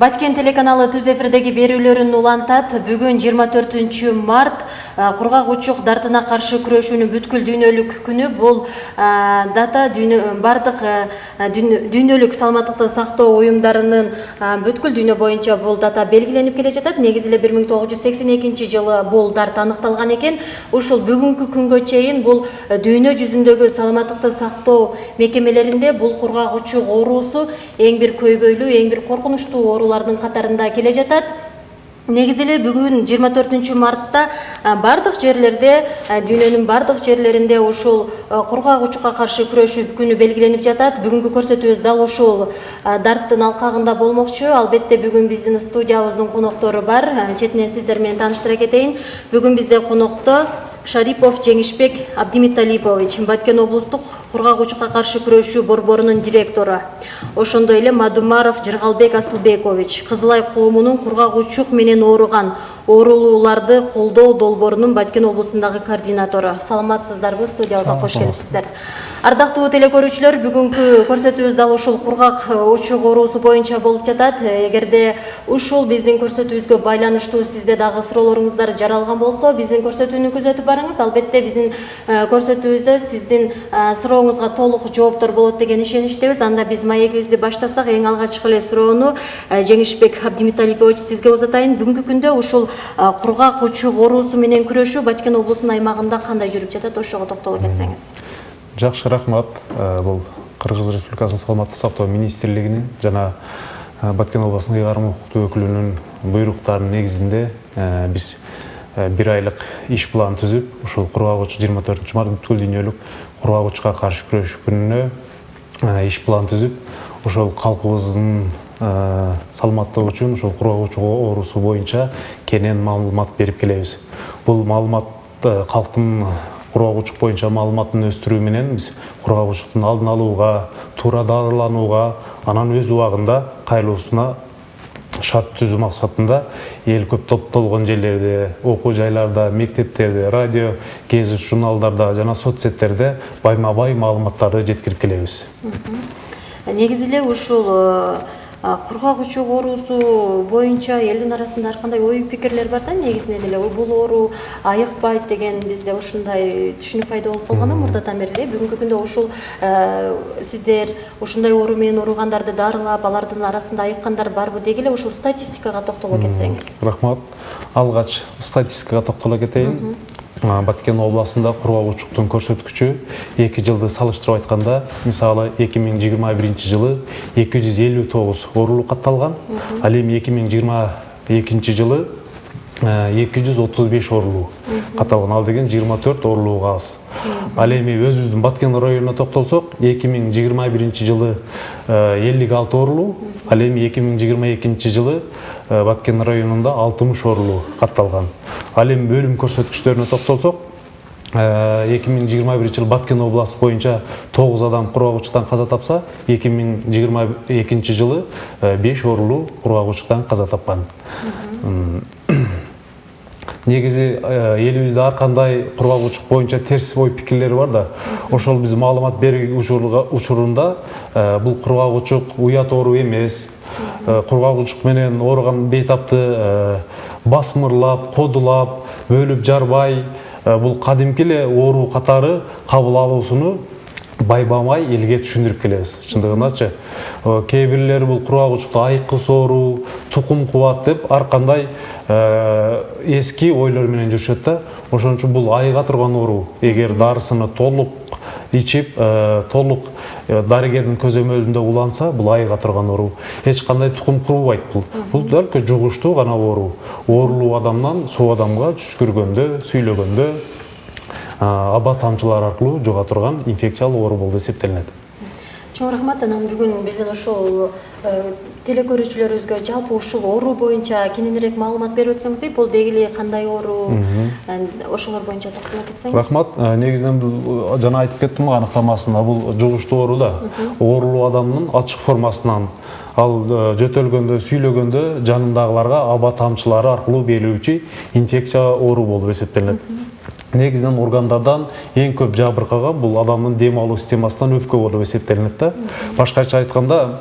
Баткен телеканалы түз эфирдеги берүүлөрүн улантат. Бүгүн 24 март кургак учук дартына каршы күрөшүүнүн бүткүл дүйнөлүк күнү. Бул дата бардык дүйнөлүк саламаттыкты сактоо уюмдарынын бүткүл дүйнө боюнча бул дата белгиленип келе жатат. Негизи эле 1982-жылы бул дарт аныкталган экен. Ушул бүгүнкү күнгө чейин бул дүйнө жүзүндөгү саламаттыкты сактоо мекемелеринде бул кургак учук оорусу эң бир көйгөйлүү, эң бир коркунучтуу оорулардын катарында келе жатат. Негизи эле бүгүн 24 мартта бардык жерлерде, дүйнөнүн бардык жерлеринде ушул кургак учукка каршы күрөшүү күнү белгиленип жатат. Бүгүнкү көрсөтүүбүз дал ушул дарттын алкагында болмокчу. Албетте бүгүн биздин студиябыздын коноктору бар. Четинен сиздер менен тааныштыра кетейин. Бүгүн бизде конокто Шарипов Жеңишбек Абдимиталипович, Баткен облустук кургак учукка каршы күрөшүү борборунун директору. Ошондой эле Мадумаров Жыргалбек Асылбекович, Кызылай коомунун кургак учук менен ооруган оорулууларды колдоо долбоорунун Баткен облусундагы координатору. Саламатсыздарбы? Студиябызга кош келипсиздер. Ардактуу телекөрүүчүлөр, бүгүнкү көрсөтүүбүз дал ушул кургак учук оорусу боюнча болуп жатат. Эгерде ушул биздин көрсөтүүбүзгө байланыштуу сизде дагы суроолоруңуздар жаралган болсо, биздин көрсөтүүнү күзөтүп барыңыз. Албетте биздин көрсөтүүбүздө сиздин сурооңузга толук жооптор болот деген ишеничтебиз. Анда биз маегибизди баштасак, эң алгачкы эле суроону Жеңишбек Абдимиталипович сизге узатайын. Бүгүнкү күндө ушул кургак учук оорусу менен күрөшүү Баткен облусунун аймагында кандай жүрүп жатат? Ошого токтоло кетсеңиз. Жакшы, рахмат. Бул Кыргыз Республикасынын саламаттык сактоо министрлигинин жана Баткен облусунун ыйгарым укуктуу өкүлүнүн буйруктарынын негизинде биз бир айлык иш план түзүп, ушул кургак учук 24 март бүткүл дүйнөлүк кургак учукка каршы күрөшүү күнүнө иш план түзүп, ошол калкыбыздын саламаттыгы үчүн ушул кургак учук оорусу боюнча кенен маалымат берип келебиз. Бул маалымат калктын кургак учук боюнча маалыматын өстүрүү менен биз кургак учуктун алдын алууга, туура дарыланууга, анан өз убагында кайрылуусуна шарт түзүү максатында эл көп топтолгон жерлерде, окуу жайларда, мектептерде, радио, гезит журналдарда жана соцсеттерде байма-бай маалыматтарды жеткирип келебиз. Негизи эле ушул кургак учук оорусу боюнча элдин арасында ар кандай ой пикирлер бар да. Негизинен эле бул оору айыкпайт деген бизде ушундай түшүнүк пайда болуп калган мурдатан бери. Бүгүнкү күндө ушул сиздер ушундай оору менен ооругандарды дарылап, алардын арасында айыккандар барбы деги эле ушул статистикага токтоло кетсеңиз. Рахмат. Алгач статистикага токтоло кетейин. Баткен областында кургак учуктун көрсөткүчү 2 жылды салыштырып айтканда, мисалы 2021 жылы 259 оорулуу катталган, ал эми 2022 жылы 235 оорулуу катталган. Ал деген 24 оорулууга аз. Ал эми өзүбүздүн Баткен районуна токтолсок, 2021 жылы 56 оорулуу, ал эми 2022 жылы Баткен районунда 60 оорулуу катталган. Ал эми өлүм көрсөткүчтөрүнө токтолсок, 2021 жылы Баткен областы боюнча 9 адам кургак учуктан каза тапса, 2022 жылы 5 оорулуу кургак учуктан каза тапкан. Негизи элибизде ар кандай кургак учук боюнча терс ой пикирлер бар да. Ошол биз маалымат берүү учурунда бул кургак учук уят оору эмес. Кургак учук менен ооруган бейтапты басмырлап, кодулап, бөлүп жарбай, бул кадимки эле оору катары кабыл алуусуну байбамай элге түшүндүрүп келебиз. Чындыгындачы, кээ бирлери бул кургак учукта айыккыс оору, тукум кубат деп ар кандай эски ойлор менен жүрүшөт да. Ошон үчүн бул айыга турган оору. Эгер дарысыны толук ичип, толук дарыгердин көзөмөлүндө уланса, бул айыга турган оору. Эч кандай тукум курбайт бул. Бул только жугуштуу гана оору. Оорулуу адамдан соо адамга түшкүргөндө, сүйлөгөндө аба тамчылар аркылуу жуга турган инфекциялык оору болуп эсептелинет. Чоң рахмат. Анан бүгүн биздин ушул телекөрүүчүлөрүбүзгө жалпы ушул оору боюнча кененирээк маалымат берип өтсөңүз, бул деги эле кандай оору, ошолор боюнча токтоло кетсеңиз. Рахмат. Негизинен жана айтып кеттим анықтамасында, бул жугуштуу оору да. Оорулуу адамдын ачык формасынан, ал жөтөлгөндө, сүйлөгөндө жанындагыларга аба тамчылары аркылуу берилүүчү инфекция оору болуп эсептелинет. Негизинен органдардан эң көп жабыркаган бул адамдын дем алуу системасынан өпкө болуп эсептелинет да. Башкача айтканда,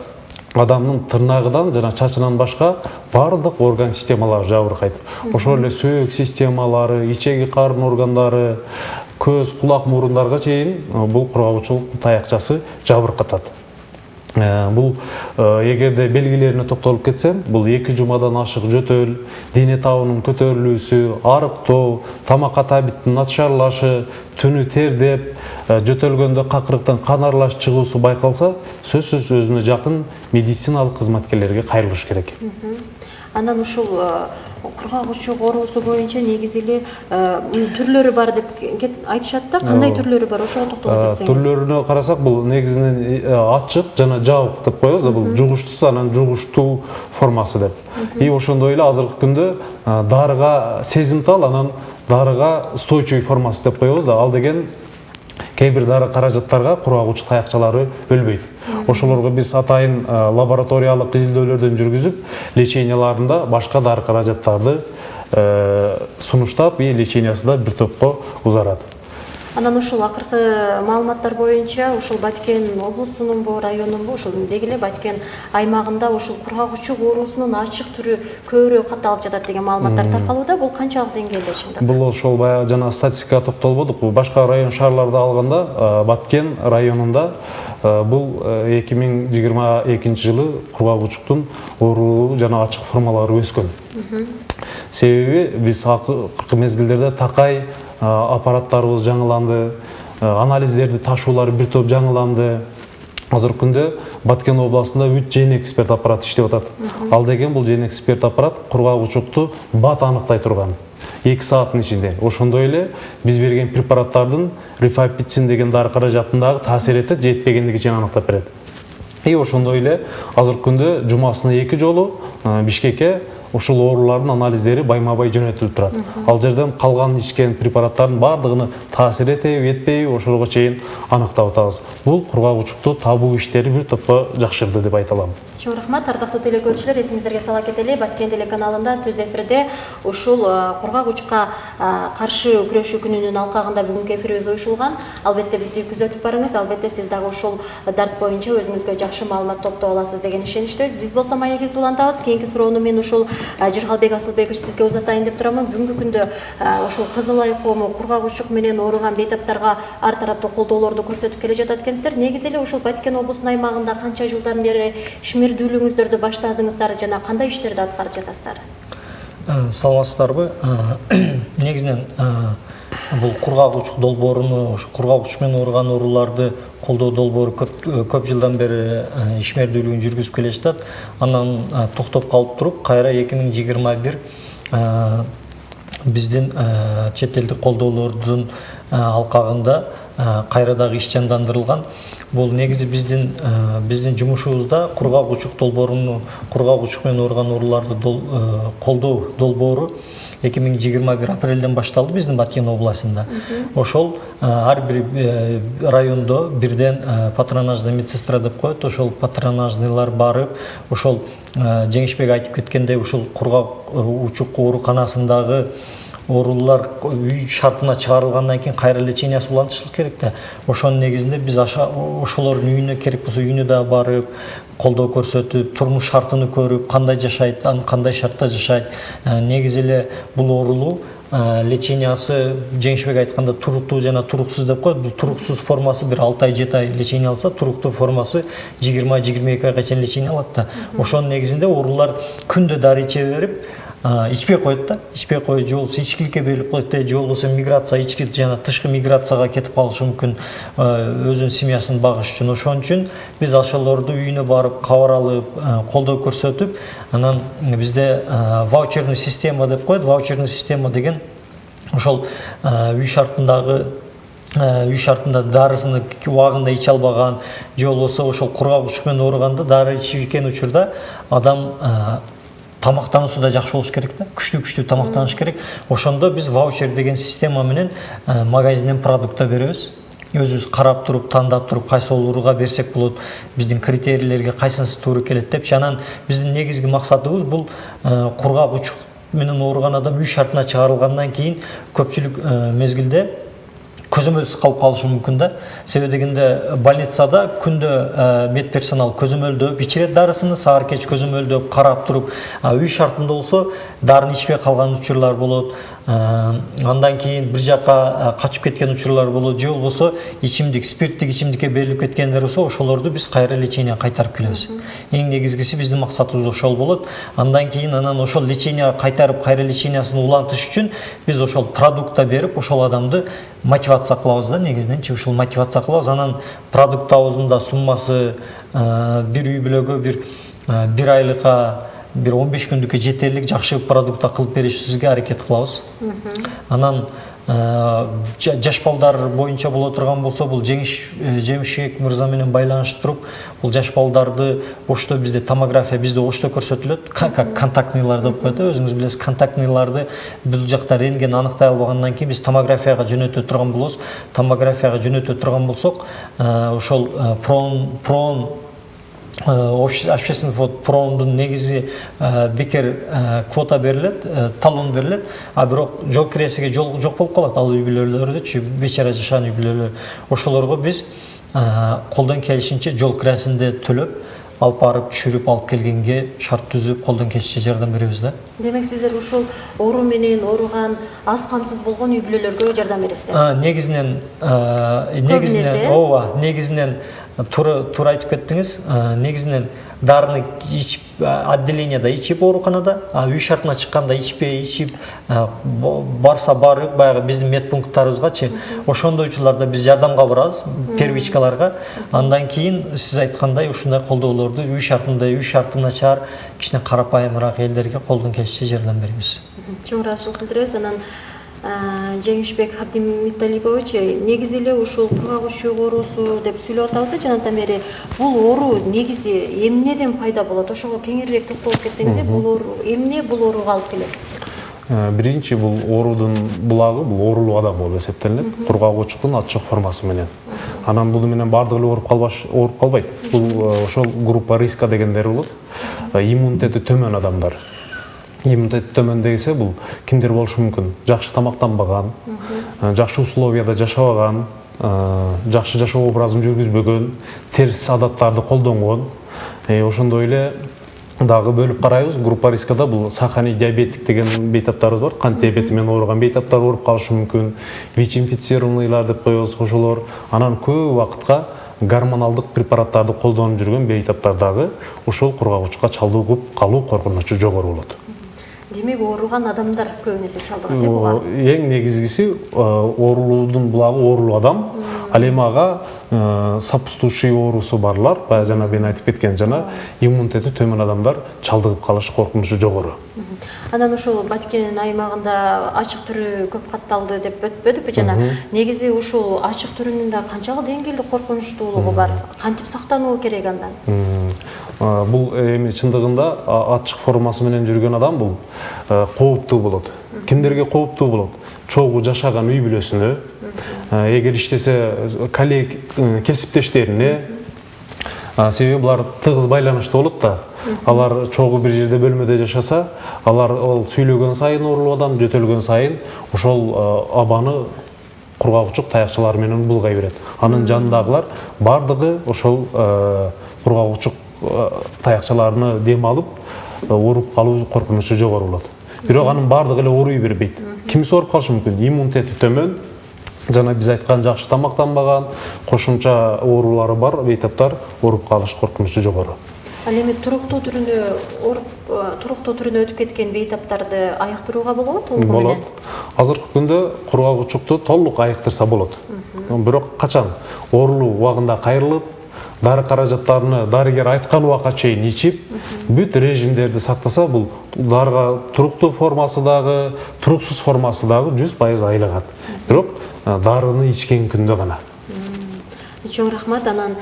адамдын тырнагынан жана чачынан башка бардык орган системалары жабыркайт. Ошол эле сөөк системалары, ичеги карын органдары, көз, кулак, мурундарга чейин бул кургагучулук таякчасы жабыркатат. Бул эгерде белгилерине токтолуп кетсем, бул 2 жумадан ашык жөтөл, дене табынын көтөрүлүүсү, арыктоо, тамакка табиттин начарлашы, түнү тердеп, жөтөлгөндө какырыктан кан аралаш чыгуусу байкалса, сөзсүз өзүнө жакын медициналык кызматкерлерге кайрылыш керек. Анан ушул кургагучук оорусу боюнча негизи эле түрлөрү бар деп айтышат да, кандай түрлөрү бар, ошого токтолуп кетсеңиз. Түрлөрүнө карасак, бул негизинен ачык жана жабык деп коебуз да, бул жугуштуу, анан жугуштуу формасы деп. И ошондой эле азыркы күндө дарыга сезимтал, анан дарыга устойчивый формасы деп коебуз да. Ал деген кээ бир дары каражаттарга кургагучу таякчалары өлбөйт. Ошолорго биз атайын лабораториялык изилдөөлөрдөн жүргүзүп, леченияларында башка дары каражаттарды сунуштап, и лечениясы да бир топко узарат. Анан ушул акыркы маалыматтар боюнча ушул Баткен облусунунбу, районунбу, ушул деги эле Баткен аймагында ушул кургагучук оорусунун ачык түрү көбүрөөк катталып жатат деген маалыматтар таркалууда. Бул канчалык деңгээлде чындап? Бул ошол баягы жана статистикага токтолбодук. Башка район шаарларды алганда Баткен районунда бул 2022 жылы кургагучуктун оорулуу жана ачык формалары өскөн. Себеби биз акыркы мезгилдерде такай аппараттарыбыз жаңыланды, анализдерди ташуулары бир топ жаңыланды. Азыркы күндө Баткен областында 3 жен эксперт аппарат иштеп атат. Ал деген бул жен эксперт аппарат кургагучукту бат аныктай турган. 2 сааттын ичинде. Ошондой эле биз берген препараттардын рифапицин деген дары каражатындагы таасирети жетпегендиги чейин аныктап берет. И ошондой эле азыркы күндө жумасына 2 жолу Бишкекке ушул оорулардын анализдери байма-бай жөнөтүлүп турат. Ал жерден калган ичкен препараттардын бардыгыны таасир этеби, этпейби, ошолорго чейин аныктап атабыз. Бул кургагучукту табуу иштери бир топко жакшырды деп айта алам. Чоң рахмат, ардактуу телекөрүүчүлөр, эсиңиздерге сала кетели, Баткен телеканалында түз эфирде ушул кургагучукка каршы күрөшүү күнүнүн алкагында бүгүнкү эфирибиз уюшулган. Албетте бизди күзөтүп барыңыз, албетте сиз дагы ушул дарт боюнча өзүңүзгө жакшы маалымат топтоп аласыз деген ишеничтебиз. Биз болсо маегибизди улантабыз. Кийинки суроону мен ушул Жыргалбек Асылбекович сизге узатайын деп турамын. Бүгүнкү күндө ушул Кызыл Ай коому кургагучук менен ооруган бейтаптарга ар тараптуу колдоолорду көрсөтүп келе жатат экенсиздер. Негизи эле ушул Баткен облусунун аймагында канча жылдан бери ишмердүүлүгүңүздөрдү баштадыңыздар жана кандай иштерди аткарып жатасыздар? Саламатсыздарбы? Негизинен бул кургагучук долбооруну, кургагучук менен ооруган ооруларды колдоо долбоору көп жылдан бери ишмердүүлүгүн жүргүзүп келе жатат. Анан токтоп калып туруп, кайра 2021 биздин чет элдик колдоолордун алкагында кайра дагы иш жандандырылган. Бул негизи биздин жумушубузда кургагучук долбооруну, кургагучук менен ооруган ооруларды колдоо долбоору 2021 апрелден башталды биздин Баткен областында. Ошол ар бир райондо бирден патронажный медсестра деп коет. Ошол патронажныйлар барып, ошол Жеңишбек айтып кеткендей, ушул кургагучук ооруканасындагы оорулар үй шартына чыгарылгандан кийин кайра лечениясы улантышлык керек да. Ошонун негизинде биз ошолордун үйүнө керек болсо үйүнө да барып, колдоо көрсөтүп, турмуш шартын көрүп, кандай жашайт, кандай шартта жашайт. Негизи эле бул оорулуу лечениясы Жеңишбек айтканда туруктуу жана туруксуз деп коет. Бул туруксуз формасы бир 6 ай 7 ай лечения алса, туруктуу формасы 20-22 айга чейин лечения алат да. Ошонун негизинде оорулар күндө дары иче берип, ичпей коет да, ичпей коюп, же болбосо ичкиликке берилип коет, же болбосо миграция, ички жана тышкы миграцияга кетип калышы мүмкүн өзүнүн семьясын багыш үчүн. Ошон үчүн биз ошолорду үйүнө барып, кабар алып, колдоо көрсөтүп, анан бизде ваучерный система деп коет. Ваучерный система деген ошол үй шартында дарысыны убагында иче албаган, же болбосо ошол кургагучук менен ооруганда дары ичкен учурда адам тамактануусу да жакшы болуш керек да, күчтүү тамактаныш керек. Ошондо биз ваучер деген система менен магазинден продукта беребиз. Өзүбүз карап туруп, тандап туруп, кайсы ооруга берсек болот, биздин критерийлерге кайсынысы туура келет деп. Анан биздин негизги максатыбыз бул кургагучук менен ооруган адам үй шартына чыгарылгандан кийин көпчүлүк мезгилде көзөмөлсүз калып калышы мүмкүн да. Себеби дегенде больницада күндө медперсонал көзөмөлдөп ичирет дарысын, саар кеч көзөмөлдөп карап туруп, үй шартында болсо дарыны ичпей калган учурлар болот. Андан кийин бир жака качып кеткен учурлар болот, же болбосо ичимдик, спирттик ичимдикке берилип кеткендер болсо, ошолорду биз кайра леченияга кайтарып келебиз. Эң негизгиси биздин максатыбыз ошол болот. Андан кийин ошол леченияга кайтарып, кайра лечениясын улантыш үчүн биз ошол продукта берип, ошол адамды мотивация кылабыз да, негизиненчи ушул мотивация кылабыз. Анан продуктабыздын да суммасы бир үй бүлөгө бир айлыкка, бир 15 күндүккө жетерлик жакшы продукта кылып беришибизге аракет кылабыз. Анан жаш балдар боюнча боло турган болсо, бул Жемишбек мырза менен байланышып туруп, бул жаш балдарды ошто бизде томография бизде ошто көрсөтүлөт, контактныйлар деп коет, өзүңүз билесиз, контактныйларды бул жакта рентген аныктай албагандан кийин биз томографияга жөнөтө турган болобуз. Томографияга жөнөтө турган болсок, ошол прон общественный фонд промдун негизи бекер квота берилет, талон берилет, а бирок жол киресиге жок болуп калат ал үй бүлөлөрдүчү, бечара жашаган үй бүлөлөр. Ошолорго биз колдон келишинче жол киресинде төлөп, алып барып түшүрүп алып келгенге шарт түзүп, колдон келишинче жардам беребиз да. Демек сиздер ушул оору менен ооруган, аз камсыз болгон үй бүлөлөргө жардам бересиздер. Негизинен туура айтып кеттиңиз. Негизинен дарыны ичип, отделенияда ичип, ооруканада, үй шартына чыкканда ичпей, ичип, барса барып, баягы биздин медпункттарыбызгачы, ошондойчуларда биз жардамга барабыз, первичкаларга. Андан кийин сиз айткандай ушундай колдоолорду үй шарты начар, кичине карапайымыраак элдерге колдон келишинче жардам беребиз. Чоң ыраазычылык билдиребиз. Анан Жеңишбек Абдимиталипович, негизи эле ушул кургак оорусу деп сүйлөп атабыз да жанатан бери. Бул оору негизи эмнеден пайда болот? Ошого кеңирээк токтолуп кетсеңиз, бул оору эмне бул ооруга алып келет? Биринчи бул оорудун булагы бул оорулуу адам болуп эсептелинет, кургак учуктун ачык формасы менен. Анан бул менен бардыгы эле ооруп калбайт. Бул ошол группа риска дегендер болот. Иммунитети төмөн адамдар. Иммунитет төмөн десе бул кимдер болушу мүмкүн? Жакшы тамактанбаган, жакшы условияда жашабаган, жакшы жашоо образын жүргүзбөгөн, терс адаттарды колдонгон. Ошондой эле дагы бөлүп карайбыз. Группа рискада бул сахарный диабетик деген бейтаптарыбыз бар. Кант диабети менен ооруган бейтаптар ооруп калышы мүмкүн. ВИЧ-инфицированныйлар деп коебуз ошолор. Анан көп убакытка гормоналдык препараттарды колдонуп жүргөн бейтаптар дагы ошол кургак учукка чалдыгып калуу коркунучу жогору болот. Демек ооруган адамдар көбүнесе чалдыгат деп буга. Эң негизгиси оорулуудун булагы оорулуу адам. Ал эми ага сопутствующий оорусу барлар, баягы жана мен айтып кеткен жана иммунитети төмөн адамдар чалдыгып калыш коркунучу жогору. Анан ушул Баткен аймагында ачык түрү көп катталды деп өтпөдүкпү жана. Негизи ушул ачык түрүнүн да канчалык деңгээлде коркунучтуулугу бар? Кантип сактануу керек андан? Бул эми чындыгында ачык формасы менен жүргөн адам бул кооптуу болот. Кимдерге кооптуу болот? Чогуу жашаган үй бүлөсүнө, эгер иштесе коллег кесиптештерине, себеби булар тыгыз байланышта болот да. Алар чогуу бир жерде бөлмөдө жашаса, алар сүйлөгөн сайын оорулуу адам, жөтөлгөн сайын ошол абаны кургак учук таякчалары менен булгай берет. Анын жанындагылар бардыгы ошол кургак учук таякчаларыны дем алып, ооруп калуу коркунучу жогору болот. Бирок анын бардыгы эле ооруй бербейт. Кимиси ооруп калышы мүмкүн? Иммунитети төмөн, жана биз айткан жакшы тамактанбаган, кошумча оорулары бар бейтаптар ооруп калыш коркунучу жогору. Ал эми туруктуу түрүнө өтүп кеткен бейтаптарды айыктырууга болобу? Болот. Азыркы күндө кургак учукту толук айыктырса болот. Бирок качан оорулуу убагында кайрылып, дары каражаттарыны дарыгер айткан убакка чейин ичип, бүт режимдерди сактаса, бул дарыга туруктуу формасы дагы, туруксуз формасы дагы 100% айлыгат. Бирок дарыны ичкен күндө гана. Чоң рахмат. Анан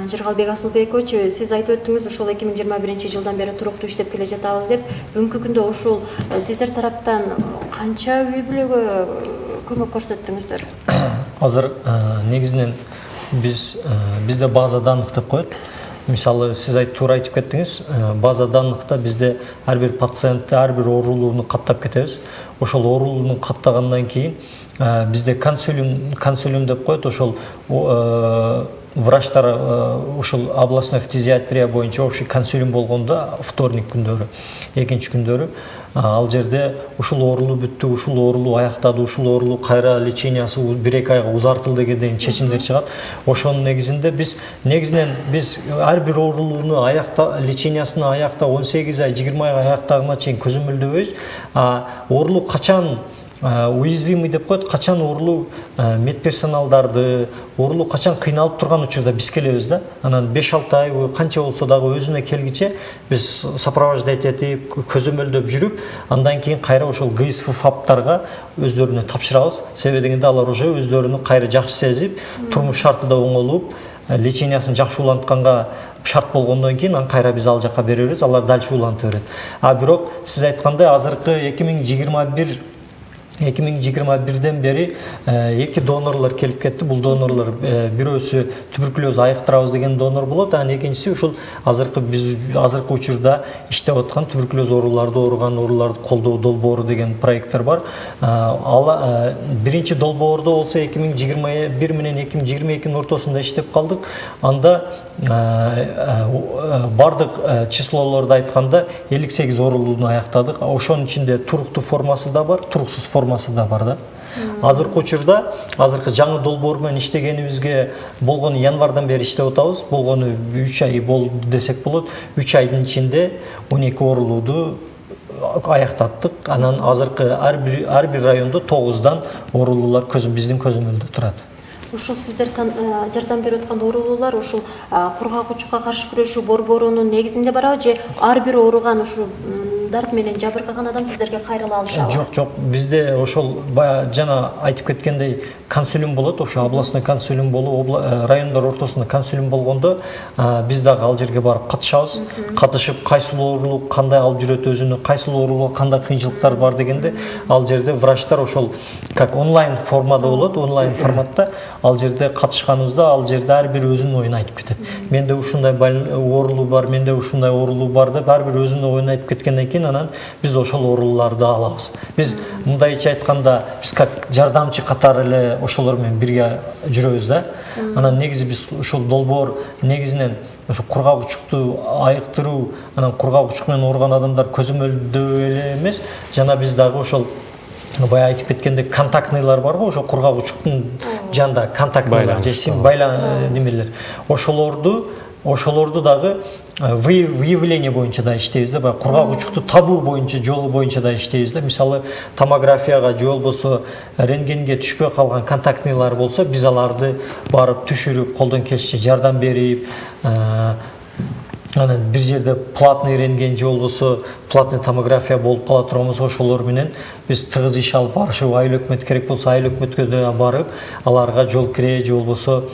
Жыргалбек Асылбекович, сиз айтып өттүңүз, ушул 2021-жылдан бери туруктуу иштеп келе жатабыз деп. Бүгүнкү күндө ушул сиздер тараптан канча үй бүлөгө көмөк көрсөттүңүздөр? Азыр негизинен бизде база данных деп коет. мисалы сиз туура айтып кеттиңиз, база данныхта бизде ар бир пациентти, ар бир оорулууну каттап кетебиз. Ошол оорулууну каттагандан кийин бизде консилиум деп коет, ошол врачтар ушул областной фтизиатрия боюнча общий консилиум болгондо вторник күндөрү, экинчи күндөрү ал жерде ушул оорулуу бүттү, ушул оорулуу аяктады, ушул оорулуу кайра лечениясы 1-2 айга узартылды деген чечимдер чыгат. Ошонун негизинде биз ар бир оорулууну лечениясын аякта 18 ай, 20 айга аяктагына чейин көзөмөлдөбөйбүз. Оорулуу качан уязвимый деп коет, качан оорулуу медперсоналдарды, оорулуу качан кыйналып турган учурда биз келебиз да. Анан 5-6 ай канча болсо дагы өзүнө келгиче биз сопровождать этип, көзөмөлдөп жүрүп, андан кийин кайра ошол ГСФ фаптарга өздөрүнө тапшырабыз. Себеби дегенде алар уже өздөрүнү кайра жакшы сезип, турмуш шарты да оңолуп, лечениясын жакшы улантканга шарт болгондон кийин аны кайра биз ал жака беребиз, алар дальше уланта берет. Бирок сиз айткандай азыркы 2021-ден бери 2 донорлор келип кетти. Бул донорлор бирөөсү туберкулез айыктырабыз деген донор болот, анан экинчиси ушул азыркы учурда иштеп аткан туберкулез ооруларды колдоо долбоору деген проекттер бар. Биринчи долбоордо болсо 2021 менен 2022 ортосунда иштеп калдык. Анда бардык числолорду айтканда 58 оорулууну аяктадык. Ошонун ичинде туруктуу формасы да бар, туруксуз формасы да бар да. Азыркы учурда, азыркы жаңы долбоор менен иштегенибизге болгону январдан бери иштеп атабыз. Болгону 3 ай болду десек болот. 3 айдын ичинде 12 оорулууду аяктаттык. Анан азыркы ар бир райондо 9дан оорулуулар биздин көзөмөлдө турат. Ушул сиздер жардам берип аткан оорулуулар ушул кургак-учукка каршы күрөшүү борборунун негизинде барабы же ар бир ооруган ушул дарт менен жабыркаган адам сиздерге кайрыла алышабы? Жок, бизде ошол жана айтып кеткендей консилиум болот, ошо областной консилиум болуп, райондор ортосунда консилиум болгондо биз дагы ал жерге барып катышабыз. Катышып, кайсыл оорулуу кандай алып жүрөт өзүнө, кайсыл оорулууга кандай кыйынчылыктар бар дегенде, ал жерде врачтар ошол как онлайн формада болот, онлайн форматта ал жерде катышканыбызда ал жерде ар бир өзүнүн оюн айтып кетет. Менде ушундай оорулуу бар, менде ушундай оорулуу бар деп ар бир өзүнүн оюн айтып кеткенден кийин анан биз ошол оорулууларды алабыз. Биз мындайча айтканда биз как жардамчы катары эле ошолор менен бирге жүрөбүз да. Анан негизи биз ушул долбоор негизинен ошо кургак-учукту айыктыруу, анан кургак-учук менен ооруган адамдар көзөмөлдөө эле эмес, жана биз дагы ошол бая айтып кеткендек контактныйлар барбы, ошо кургак-учуктун жанында контактныйлар же немелер. Ошолорду дагы выявление боюнча да иштейбиз да, баягы кургак-учукту табуу боюнча, жолу боюнча да иштейбиз да. Мисалы томографияга же болбосо рентгенге түшпөй калган контактныйлар болсо, биз аларды барып түшүрүп, колдон келишинче жардам берип, анан бир жерде платный рентген же болбосо платный томография болуп кала турган болсо, ошолор менен биз тыгыз иш алып барышып, айыл өкмөт керек болсо айыл өкмөткө да барып, аларга жол кире же болбосо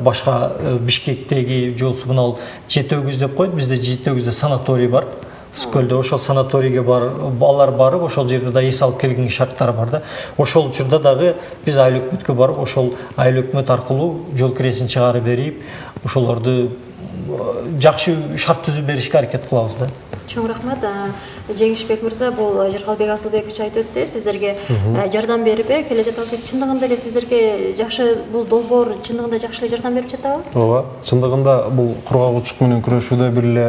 башка Бишкектеги же болбосо мына Жетөгүз деп коет, бизде Жетөгүздө санаторий бар. Скөлдө ошол санаторийге алар барып, ошол жерде да эс алып келген шарттары бар да. Ошол учурда дагы биз айыл өкмөткө барып, ошол айыл өкмөт аркылуу жол киресин чыгарып берип, ошолорду жакшы шарт түзүп беришке аракет кылабыз да. Чоң рахмат. Жеңишбек мырза, бул Жыргалбек Асылбекович айтып өттү, сиздерге жардам берип келе жатабыз. Чындыгында эле сиздерге жакшы бул долбоор чындыгында жакшы эле жардам берип жатабы? Ооба, чындыгында бул кургак-учук менен күрөшүүдө бир эле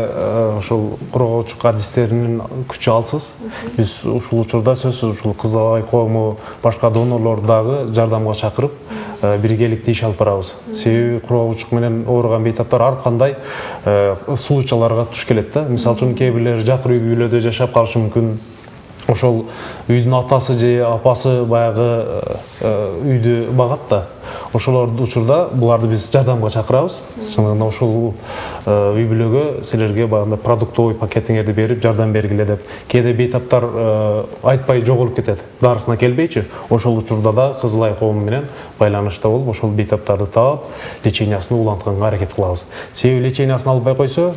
ошол кургак-учук адистеринин күчү алсыз. Биз ушул учурда сөзсүз ушул Кызыл Ай коому башка донорлорду дагы жардамга чакырып, биргеликте иш алып барабыз. Себеби кургак-учук менен ооруган бейтаптар ар кандай случайларга туш келет да. Мисалы үчүн кээ бирлер жакыр үй-бүлөдө жашап калышы мүмкүн. Ошол үйдүн атасы же апасы баягы үйдү багат да. Ошолор учурда буларды биз жардамга чакырабыз. Чындыгында ошол үй-бүлөгө силерге баягы продуктовый пакетиңерди берип жардам бергиле деп. Кээде бейтаптар айтпай жоголуп кетет, дарысына келбейчи. Ошол учурда да Кызыл Ай коому менен байланышта болуп, ошол бейтаптарды таап, лечениясын улантканга аракет кылабыз. Себеби лечениясын албай койсо,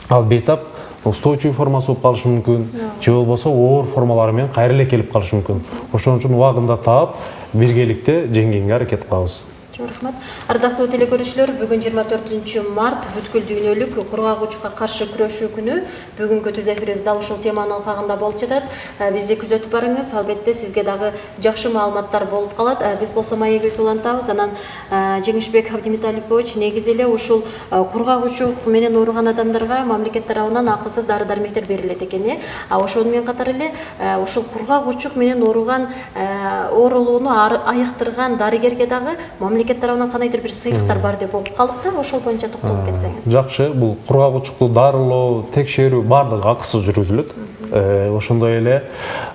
ал бейтап устойчивый формасы болуп калышы мүмкүн, же болбосо оор формалары менен кайра эле келип калышы мүмкүн. Ошон үчүн убагында таап, биргеликте жеңгенге аракет кылабыз. Чоң рахмат. Ардактуу телекөрүүчүлөр, бүгүн 24 март бүткүл дүйнөлүк кургак учукка каршы күрөшүү күнү. Бүгүнкү түз эфирибиз дал ушул теманын алкагында болуп жатат. Бизди күзөтүп барыңыз. Албетте сизге дагы жакшы маалыматтар болуп калат. Биз болсо маегибизди улантабыз. Анан Жеңишбек Абдимиталипович негизи эле ушул кургак учук менен ооруган адамдарга мамлекет тарабынан акысыз дары-дармектер берилет экен. Ошону менен катар эле ушул кургак учук менен ооруган оорулууну айыктырган дарыгерге дагы мамлекет тарабынан кандайдыр бир сыйлыктар бар деп окуп калдык да, ошол боюнча токтолуп кетсеңиз. Жакшы, бул кургак учукту дарылоо, текшерүү баардыгы акысыз жүргүзүлөт. Ошондой эле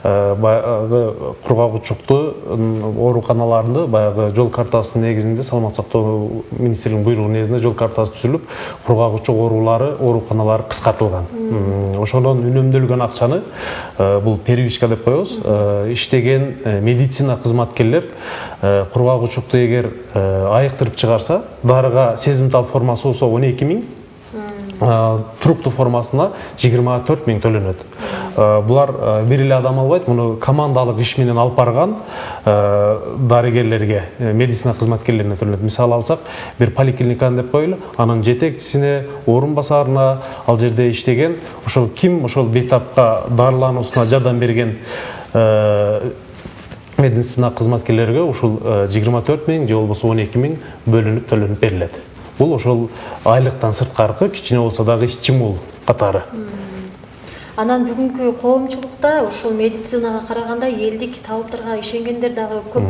баягы кургак учукту ооруканаларында баягы жол картасынын негизинде Саламат сактоо министрлигинин буйругу негизинде жол картасы түзүлүп, кургак учук ооруканалары кыскартылган. Ошондон үнөмдөлгөн акчаны бул первичка деп коебуз, иштеген медицина кызматкерлер кургак учукту эгер айыктырып чыгарса, дарыга сезимтал формасы болсо 12 000, туруктуу формасына 24 000 төлөнөт. Булар бир эле адам албайт, муну командалык иш менен алып барган дарыгерлерге, медицина кызматкерлерине төлөнөт. Мисалы алсак, бир поликлиниканы деп коелу, анын жетекчисине, орун басарына, ал жерде иштеген, ошол ким ошол бейтапка дарылануусуна жардам берген медицина кызматкерлерге ушул 24 000 же болбосо 12 000 бөлүнүп төлөнүп берилет. Бул ошол айлыктан сырткаркы кичине болсо дагы стимул катары. Анан бүгүнкү коомчулукта ушул медицинага караганда элдик табыптарга ишенгендер дагы көп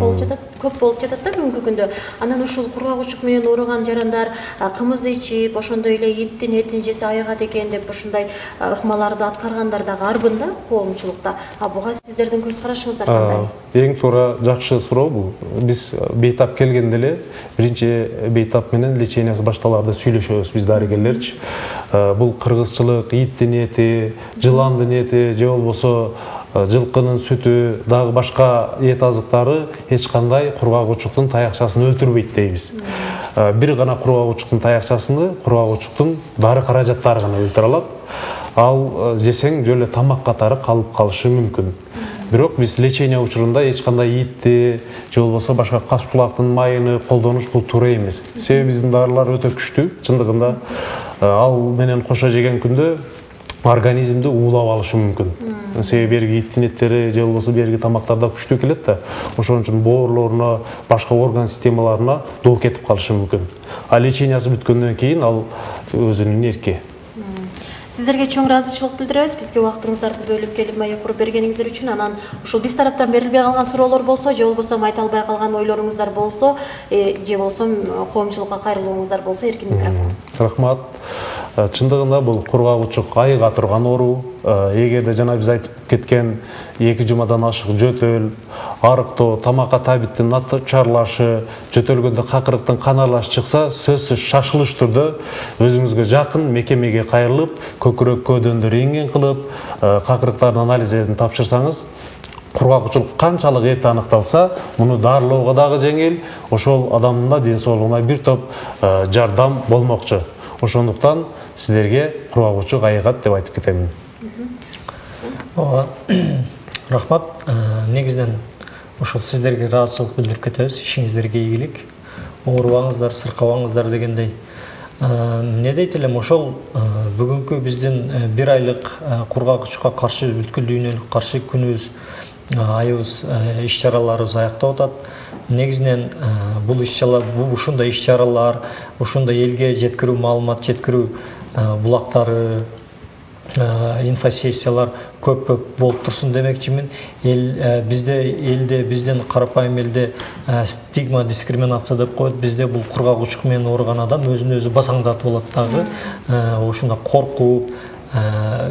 болуп жатат да бүгүнкү күндө. Анан ушул кургак учук менен ооруган жарандар кымыз ичип, ошондой эле иттин этин жесе айыгат экен деп ушундай ыкмаларды аткаргандар дагы арбын да коомчулукта. Буга сиздердин көз карашыңыздар кандай? Эң туура жакшы суроо бул. Биз бейтап келгенде эле биринчи бейтап менен лечениясы башталарда сүйлөшөбүз биз дарыгерлерчи. Бул кыргызчылык, иттин эти, жыландын эти же болбосо жылкынын сүтү, дагы башка эт азыктары эч кандай кургак учуктун таякчасын өлтүрбөйт дейбиз. Бир гана кургак учуктун таякчасыны кургак учуктун дары каражаттары гана өлтүрө алат. Ал жесең жөн эле тамак катары калып калышы мүмкүн. Бирок биз лечения учурунда эч кандай итти же болбосо башка кашкулактын майыны колдонуш бул туура эмес. Себеби биздин дарылар өтө күчтүү, чындыгында ал менен кошо жеген күндө организмди уулап алышы мүмкүн. Себеби берги иттин эттери же болбосо берги тамактарда күчтүү келет да, ошон үчүн боорлоруна, башка орган системаларына доо кетип калышы мүмкүн. А лечениясы бүткөндөн кийин ал өзүнүн эрки. Сиздерге чоң ыраазычылык билдиребиз. Бизге убактыңыздарды бөлүп келип маек куруп бергениңиздер үчүн. Анан ушул биз тараптан берилбей калган суроолор болсо, же болбосо айта албай калган ойлоруңуздар болсо, же болсо коомчулукка кайрылууңуздар болсо, эркин микрофон. Рахмат. Чындыгында бул кургак учук айыга турган оору. Эгерде жана биз айтып кеткен 2 жумадан ашык жөтөл, арыктоо, тамакка табиттин начарлашы, жөтөлгөндө какырыктын кан аралаш чыкса, сөзсүз шашылыш түрдө өзүңүзгө жакын мекемеге кайрылып, көкүрөк көөдөндөр рентген кылып, какырыктардын анализин тапшырсаңыз, кургак учук канчалык эрте аныкталса, муну дарылоого дагы жеңил, ошол адамдын да ден соолугуна бир топ жардам болмокчу. Ошондуктан сиздерге кургак учук айыгат деп айтып кетемин. Рахмат. Негизинен ошол сиздерге ыраазычылык билдирип кетебиз. Ишиңиздерге ийгилик. Оорубаңыздар, сыркабаңыздар дегендей. Не дейт элем, ошол бүгүнкү биздин 1 айлык кургак учукка каршы бүткүл дүйнөлүк каршы күнүбүз, айыбыз, иш-чараларыбыз аяктап атат. Негизинен бул ушундай иш-чаралар, ушундай элге жеткирүү, маалымат жеткирүү булактары, инфосессиялар көп болуп турсун демекчимин. Элде биздин карапайым элде стигма, дискриминация деп коет. Бизде бул кургак учук менен ооруган адам өзүн өзү басаңдатып алат дагы. Ошондо коркуп,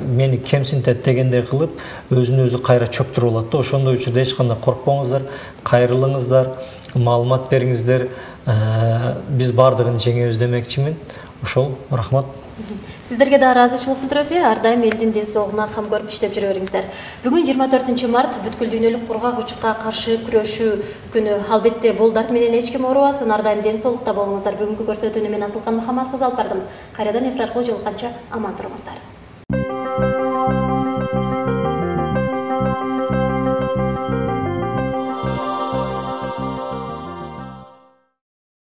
мени кемсинтет дегендей кылып, өзүн өзү кайра чөптүрүп алат да. Ошондой учурда эч кандай коркпоңуздар, кайрылыңыздар, маалымат бериңиздер. Биз бардыгын жеңебиз демекчимин. Ошол, рахмат. Сиздерге да ыраазычылык билдиребиз. Ар дайым элдин ден соолугуна кам көрүп иштеп жүрө бериңиздер. Бүгүн 24 март бүткүл дүйнөлүк кургак учукка каршы күрөшүү күнү. Албетте бул дарт менен эч ким оорубасын. Ар дайым ден соолукта болуңуздар. Бүгүнкү көрсөтүүнү мен Асылкан Мухаммадкызы алып бардым. Кайрадан эфир аркылуу жолукканча аман туруңуздар.